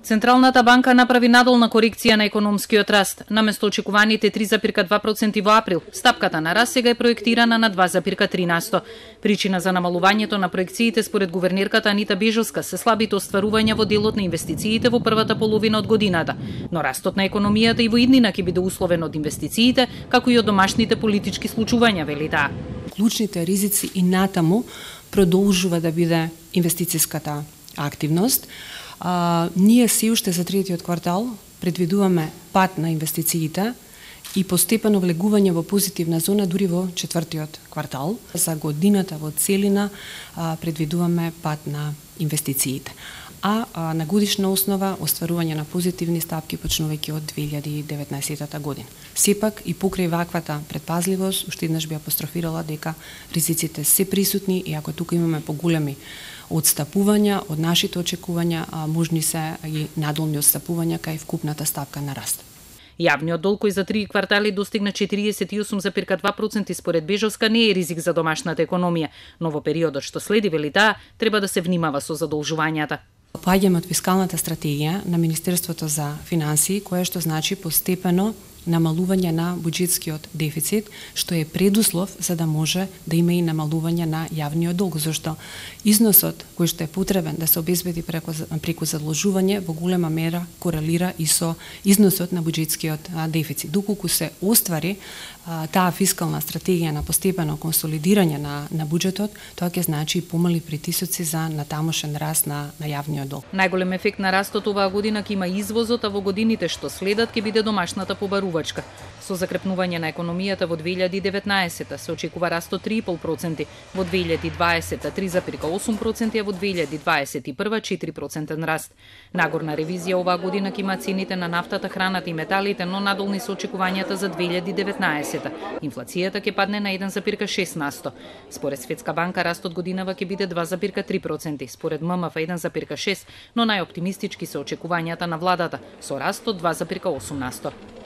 Централната банка направи надолна корекција на економскиот раст. Наместо очекуваните 3,2% во април, стапката на раст сега е проектирана на 2,3%. Причина за намалувањето на проекциите според гувернерката Анита Бежовска се слабите остварувања во делот на инвестициите во првата половина од годината, но растот на економијата и во иднина ќе биде условен од инвестициите, како и од домашните политички случувања, вели таа. Клучните ризици и натаму продолжува да биде инвестицијската активност. Ние се уште за третиот квартал предвидуваме пат на инвестициите и постепено влегување во позитивна зона дури во четвртиот квартал. За годината во целина предвидуваме пат на инвестициите. А на годишна основа остварување на позитивни стапки почнувајќи од 2019 година. Сепак и покрај ваквата предпазливост, уште еднаш би апострофирала дека ризиците се присутни и ако тука имаме поголеми одстапувања од нашите очекувања, можни се и надолни одстапувања кај вкупната стапка на раст. Јавниот долг кој за 3 квартали достигна 48,2% според Бежовска не е ризик за домашната економија, но во периодот што следи, вели таа, треба да се внимава со задолжувањата. Поаѓаме од фискалната стратегија на Министерството за финансии, кое што значи постепено намалување на буџетскиот дефицит, што е предуслов за да може да има и намалување на јавниот долг, зашто износот кој што е потребен да се обезбеди преку задолжување во голема мера корелира и со износот на буџетскиот дефицит. Доколку се оствари таа фискална стратегија на постепено консолидирање на буџетот, тоа ќе значи и помали притисоци за натамошен раст на јавниот долг. Најголем ефект на растот оваа година ќе има извозот, а во годините што следат ќе биде домашната побарувања. Со закрепнување на економијата во 2019 се очекува раст од 3,5%, во 2020 3,8%, а во 2021 4% раст. Нагорна ревизија оваа година ќе има цените на нафтата, храната и металите, но надолни се очекувањата за 2019. Инфлацијата ќе падне на 1,6%. Според Светска банка растот годинава ќе биде 2,3%, според ММФ 1,6%, но најоптимистички се очекувањата на владата со раст од 2,8%.